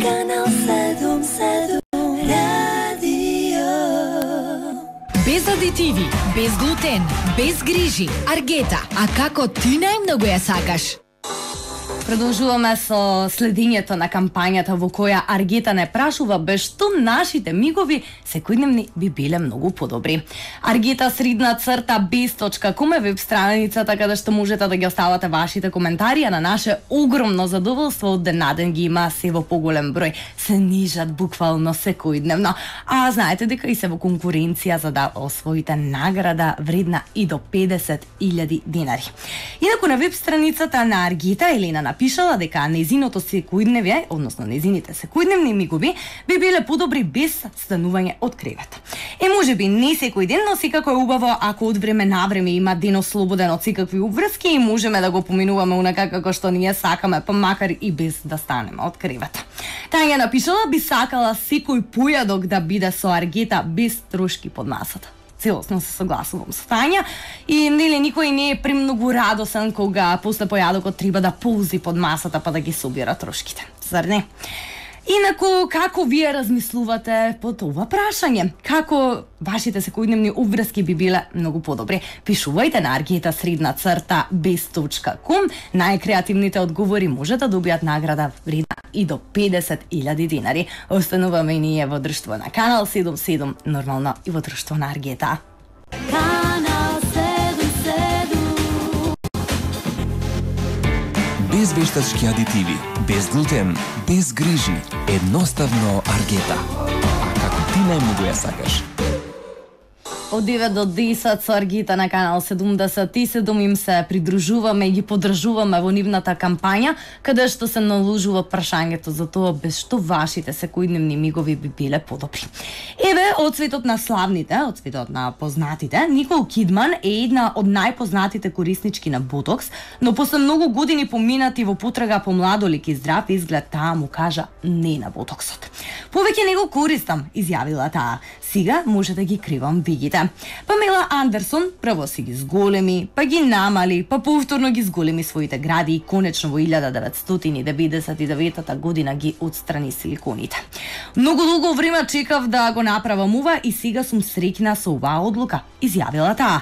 Канал 7 радио. Без адитиви, без глутен, без грижи, Аргета, а како ти најмногу ја сакаш? Продолжуваме со следењето на кампањата во која Аргета не прашува без што нашите мигови секојдневни би биле многу подобри. argeta_bez.com е веб страницата каде што можете да ги оставате вашите коментари, а на наше огромно задоволство од ден на ден ги има се во поголем број, се нижат буквално секојдневно. А знаете дека и се во конкуренција за да освоите награда вредна и до 50.000 денари. Инаку на веб страницата на Аргета Елена напишала дека нејзиното секојдневје, односно нејзините секојдневни мигови, би биле подобри без станување од кревет. Можеби не секој ден, но секако е убаво ако од време на време има денот слободен од секакви обврски и можеме да го поминуваме унака како што ние сакаме, па макар и без да станеме од кревет. Тања напишала би сакала секој појадок да биде со Аргета без трошки под масата. Целосно се согласувам со Тања и нели никој не е премногу радосен кога после појадокот треба да ползи под масата па да ги собира трошките. Зар не? Инаку, како вие размислувате по това прашање? Како вашите секојдневни обврски би биле многу подобри? Пишувајте на argeta_bez.com. Најкреативните одговори може да добијат награда вредна и до 50.000 денари. Остануваме и ние во друштво на Канал 77, нормално и во друштво на Аргета. Канал 7. Без вештачки адитиви, без глутен, без грижи, едноставно Аргета. А како ти најмногу ја сакаш? Од 9 до 10 со Аргета на Канал 77 им се придружуваме и ги поддржуваме во нивната кампања, каде што се наложува прашањето за тоа без што вашите секојдневни мигови би биле подобри. Еве, од светот на славните, од светот на познатите, Никол Кидман е една од најпознатите кориснички на ботокс, но после многу години поминати во потрага по младолик и здрав изглед, таа му кажа не на ботоксот. Повеќе не го користам, изјавила таа. Сега може да ги кривам вигите. Памела Андерсон прво си ги зголеми, па ги намали, па повторно ги зголеми своите гради и конечно во 1999 година ги отстрани силиконите. Многу долго време чекав да го направам ова и сега сум среќна со оваа одлука, изјавила таа.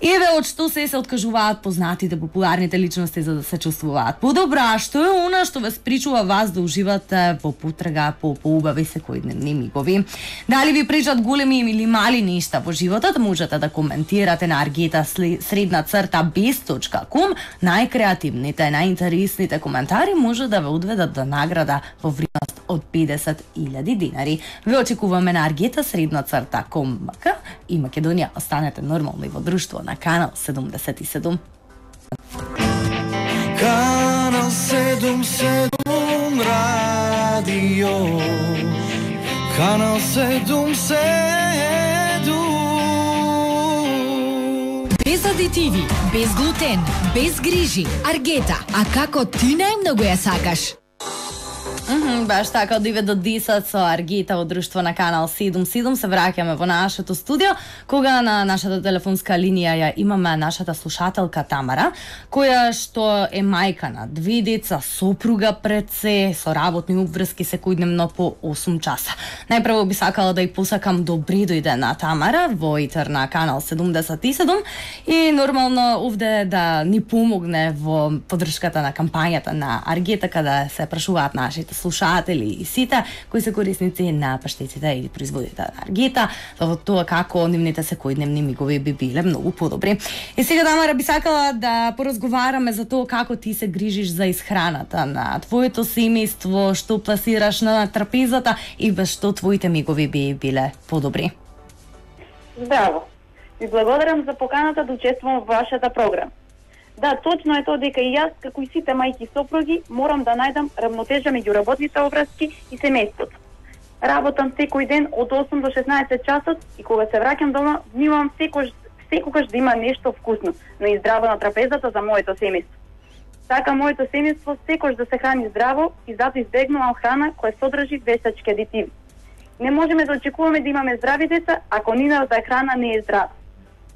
Еве од што се откажуваат познатите популарните личности за да се чувствуваат подобра, што е она што ве спречува вас да уживате во потрага по поубави секојдневни мигови. Дали ви пречат големи или мали нешта во животот, можете да коментирате на argeta_bez.com. Најкреативните, најинтересните коментари може да ве одведат до награда во вредност од 50.000 денари. Ве очекуваме на argeta_com и Македонија. Останете нормално и во друштво на Канал 77. Канал 77 радио. Канал 77. Без адитиви, без глутен, без грижи, Аргета, а како ти најмногу ја сакаш? Баш така, од 9 до 10 со Аргета во друштво на Канал 77 се враќаме во нашето студио, кога на нашата телефонска линија ја имаме нашата слушателка Тамара, која што е мајка на 2 деца, сопруга пред се, со работни обврски секојдневно по 8 часа. Најпрво би сакала да ја посакам добри дојде на Тамара во етер на Канал 77 и нормално овде да ни помогне во поддршката на кампањата на Аргета, каде се прашуваат нашите слушатели и сите кои се корисници на паштетите и производите на Аргета, во тоа како нивните секојдневни мигови би биле многу подобри. И сега, Тамара, би сакала да поразговараме за тоа како ти се грижиш за исхраната на твоето семејство, што пласираш на трапезата и без што твоите мигови би биле подобри. Здраво. Ви благодарам за поканата да учествувам во вашата програма. Да, точно е тоа дека и јас, како и сите мајки и сопруги, морам да најдам равнотежа меѓу работните обврски и семејството. Работам секој ден од 8 до 16 часот и кога се враќам дома, внимавам секогаш да има нешто вкусно, но и здраво на трапезата за моето семејство. Така моето семејство секогаш да се храни здраво и затоа избегнувам храна која содржи вештачки адитиви. Не можеме да очекуваме да имаме здрави деца ако нивната храна не е здрава.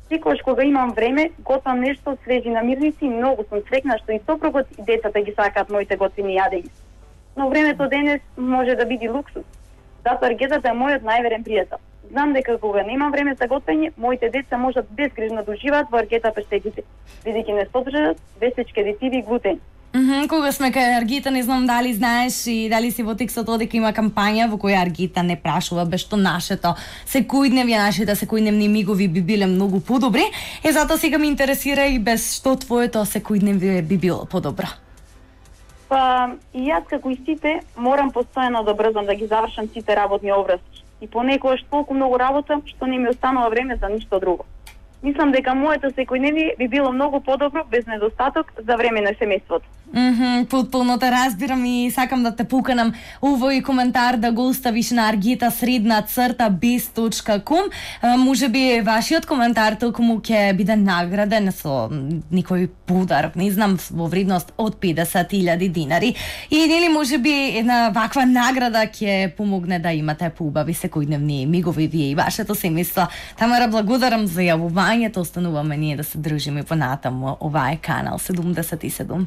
Секогаш кога имам време, готвам нешто од свежи намирници и многу сум среќна што и сопругот и децата ги сакаат моите готвени јадења. но времето денес може да биде луксус. Затоа аргетата е мојот најверен пријател. Знам дека кога немам време за готвење, моите деца можат безгрижно да уживаат во аргета паштетите, бидејќи не содржат весечки адитиви и глутен. Кога сме кај Аргита, не знам дали знаеш и дали си во текстот дека има кампања во која Аргита не прашува без што нашите секојдневни мигови би биле многу подобри. Затоа сега ме интересира и без што твоето секојдневие би било подобро. Па и јас како и сите морам постојано да брзам да ги завршам сите работни обврски. И понекогаш толку многу работам што не ми останува време за ништо друго. Мислам дека моето секојдневие би било многу подобро без недостаток за време на семејството. Потполно те разбирам и сакам да те поканам овој коментар да го оставиш на argita_bez.com. Можеби вашиот коментар токму ќе биде награден со некој подарок, не знам, во вредност од 50.000 динари. И нели можеби една ваква награда ќе помогне да имате поубави секојдневни мигови вие и вашето семејство. Тамара, благодарам за јавувањето, остануваме ние да се дружиме понатаму. Ова е Канал 77.